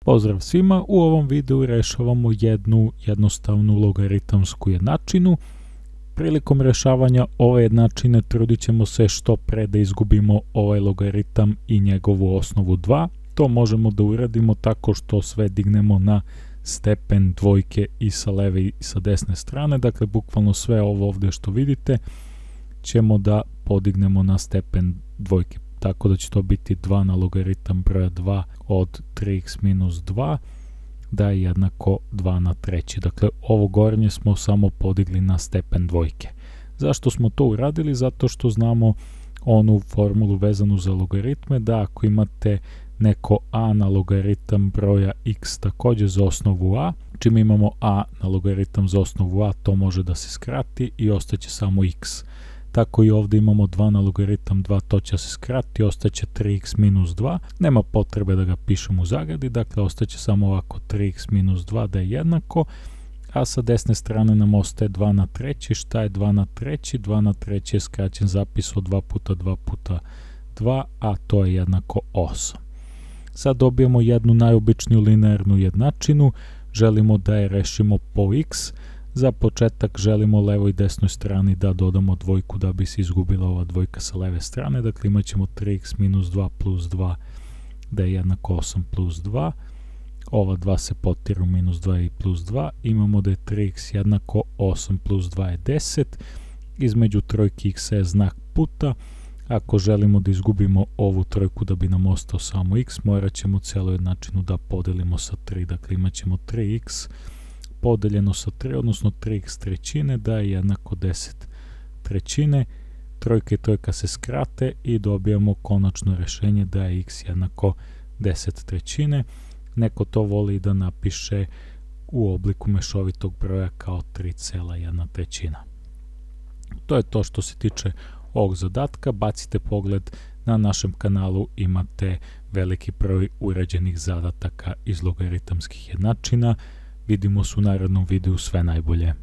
Pozdrav svima, u ovom videu rešavamo jednu jednostavnu logaritamsku jednačinu. Prilikom rešavanja ove jednačine trudit ćemo se što pre da izgubimo ovaj logaritam i njegovu osnovu 2. To možemo da uradimo tako što sve dignemo na stepen dvojke i sa leve i sa desne strane. Dakle, bukvalno sve ovo ovdje što vidite ćemo da podignemo na stepen dvojke. Tako da će to biti 2 na logaritam broja 2 od 3x minus 2 da je jednako 2 na treći. Dakle, ovo gornje smo samo podigli na stepen dvojke. Zašto smo to uradili? Zato što znamo onu formulu vezanu za logaritme, da ako imate neko a na logaritam broja x također za osnovu a, čim imamo a na logaritam za osnovu a, to može da se skrati i ostaće samo x. Tako i ovdje imamo 2 na logaritam 2, to će se skrati, ostaće 3x minus 2. Nema potrebe da ga pišemo u zagradi, dakle ostaće samo ovako 3x minus 2 da je jednako, a sa desne strane nam ostaje 2 na treći. Šta je 2 na treći? 2 na treći je skraćen zapis od 2 puta 2 puta 2, a to je jednako 8. Sad dobijemo jednu najobičniju linearnu jednačinu, želimo da je rešimo po x. Za početak želimo levoj i desnoj strani da dodamo dvojku da bi se izgubila ova dvojka sa leve strane. Dakle, imat ćemo 3x minus 2 plus 2 da je jednako 8 plus 2. Ova 2 se potiru, minus 2 i plus 2. Imamo da je 3x jednako 8 plus 2 je 10. Između trojki x je znak puta. Ako želimo da izgubimo ovu trojku da bi nam ostao samo x, morat ćemo celu jednačinu da podelimo sa 3. Dakle, imat ćemo 3x podeljeno sa 3, odnosno 3x trećine da je jednako 10 trećine. Trojka i trojka se skrate i dobijamo konačno rešenje da je x jednako 10 trećine. Neko to voli da napiše u obliku mešovitog broja kao 3,1 trećina. To je to što se tiče ovog zadatka. Bacite pogled na našem kanalu, imate veliki broj urađenih zadataka iz logaritamskih jednačina. Vidimo se u narednom videu, sve najbolje.